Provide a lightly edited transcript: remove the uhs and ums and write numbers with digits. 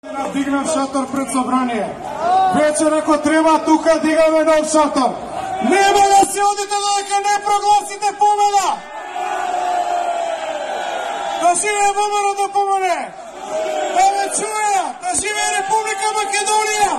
Дигнав шатор пред собрание. Вечер ако треба тука дигаме нов шатор. Нема да се одите додека не прогласите победа. Да живее ВМРО да помоне. Да ме чуја, да живее Република Македонија.